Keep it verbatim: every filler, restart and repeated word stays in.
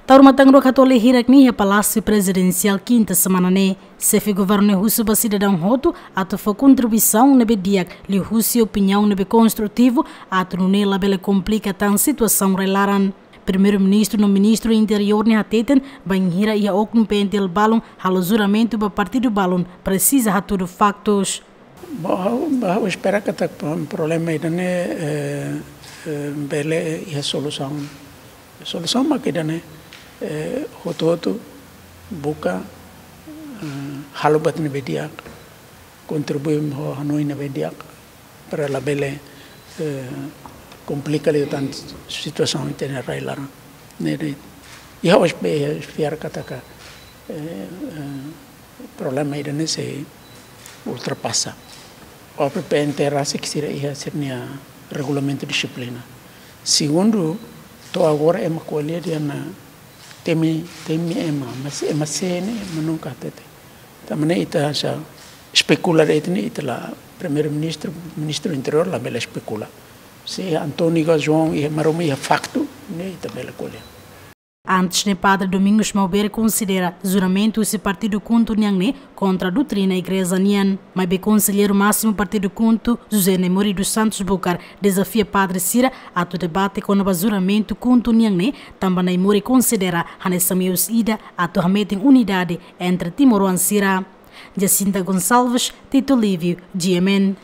Taur matan rua katolik hirak ne'e iha Palásiu Prezidensiál kinta semana ne'e. Xefe governu ne'e husu ba sidadaun hotu atu fó kontribuisaun ne'ebé di'ak, liuhusi opiniaun ne'ebé konstrutivu, atu nune'e labele komplika tan situasaun rai-laran. Primeiru-Ministru no Ministru Interiór ne'e hateten, bainhira iha oknum P N T L balun halo juramentu ba partidu balun, presiza hatudu faktus. Ba ha'u, ba ha'u espera katak pro-, problema ida-ne'e, eh, eh, bele iha solusaun. Solusaun mak ida-ne'e, eh, hotu-hotu buka, eh, halo buat ne'ebé di'ak, kontribui ho hanoin ne'ebé di'ak, para labele, eh, komplika liután situasaun ita-nia rai-laran. Ne'e de'it. Iha os be fiar katak, eh, eh, problema ida-ne'e sei ultrapasa. Ó P P N T rasik sira iha sira-nia regulamentu dixiplina. Segundu, to'o agora ema ko'alia dehan temi, temi ema, mas ema sé ne'e ema nunka hatete. Tanba ne'e ita sei espekula de'it ne'e, ita la Primeiru-Ministru, Ministru Interiór labele espekula. Se António ka João iha Maromak iha faktu, ne'e ita bele ko'alia. Antes ne'e Padre Domingos Maubere konsidera juramentu husi partidu KHUNTO nian ne'e kontra doutrina igreja nian. Maibé Konselleiru Másimu Partidu KHUNTO, José Naimori dos Santos Bucar, dezafia padre sira atu debate kona-ba juramentu KHUNTO nian ne'e, tanba Naimori konsidera hanesan meius ida atu hametin unidade entre timoroan sira. Jacinta Gonçalves, Tito Lívio, G M N.